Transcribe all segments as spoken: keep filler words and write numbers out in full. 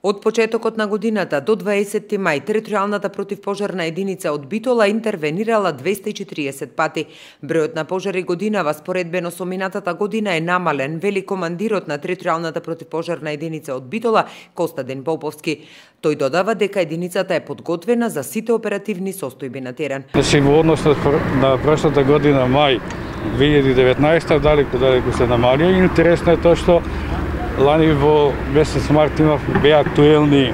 Од почетокот на годината до дваесетти мај, територијалната противпожарна единица од Битола интервенирала двесте и четириесет пати. Бројот на пожари годинава споредбено со минатата година е намален, вели командирот на територијалната противпожарна единица од Битола, Костадин Поповски. Тој додава дека единицата е подготвена за сите оперативни состојби на терен. Значи, во однос на прошлата година, мај две илјади и деветнаесета, далеку далеку се намалија. Интересно е тоа што лани во месец март имав беа актуелни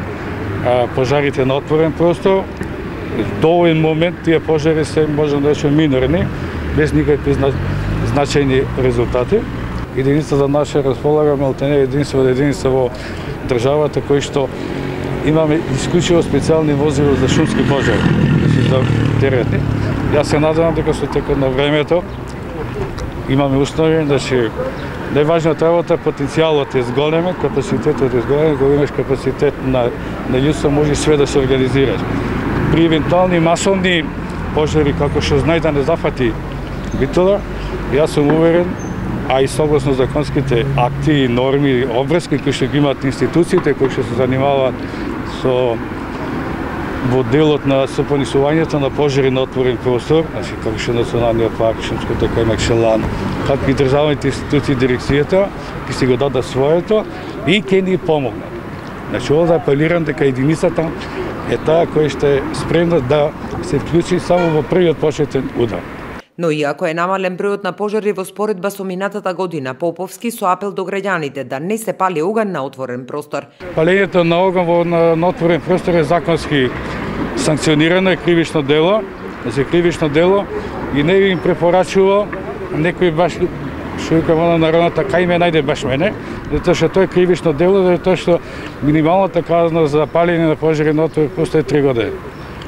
а, пожарите на отворен простор. До овој момент тие пожари се можам да речем минорни, без никакви зна... значајни резултати. Единицата наша располага малтене единствена единица во државата кој што имаме исклучиво специјални возила за шумски пожари, значи за теретни. Јас се надевам дека со текот на времето имаме услови, значи најважната работа, потенцијалот е зголемен, капацитетот е зголемен, кога имаш капацитет на, на људство, може све да се организираш. При евентуални масовни пожари, како што знај да не зафати Битола, јас сум уверен, а и согласно законските акти и норми, обврски кои што ги имаат институциите, кои што се занимаваат со во делот на сопонесувањето на пожари на отворен простор, значи како што Националниот парк, Шумското кај Макшелан, како и државните институции, дирекцијата, ќе си го дадат своето и ќе ни помогнат. Значи, ова да апелирам дека единицата е таа која што е спремна да се вклучи само во првиот почетен удар. Но иако е намален бројот на пожари во споредба со минатата година, Поповски со апел до граѓаните да не се пали оган на отворен простор. Палењето на оган во на, на отворен простор е законски санкционирано, е кривично дело, значи кривично дело и не би им препорачувал некој баш што вика во народната кај ме најде баш мене, затоа што тоа е кривично дело, затоа што минималната казна за палење на пожари на отворен простор е три години.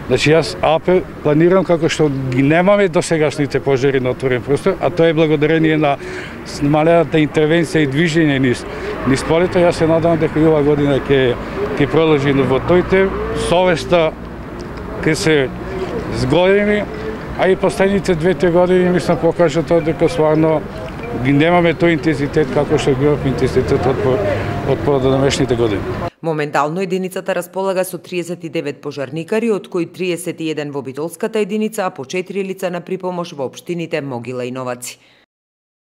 Значи јас апел планирам како што ги немаме досегашните пожари на отворен простор, а тоа е благодарение на смалената интервенција и движење низ низ полето. Јас се надевам дека и ова година ќе ќе продолжи во тој совеста ќе се зголеми, а и последните две-три години мислам покажа тоа дека стварно ги немаме тој интензитет како што ги имав интензитет од од поднамешните години. Моментално единицата располага со триесет и девет пожарникари, од кои триесет и еден во Битолската единица, а по четири лица на припомош во општините Могила и Новаци.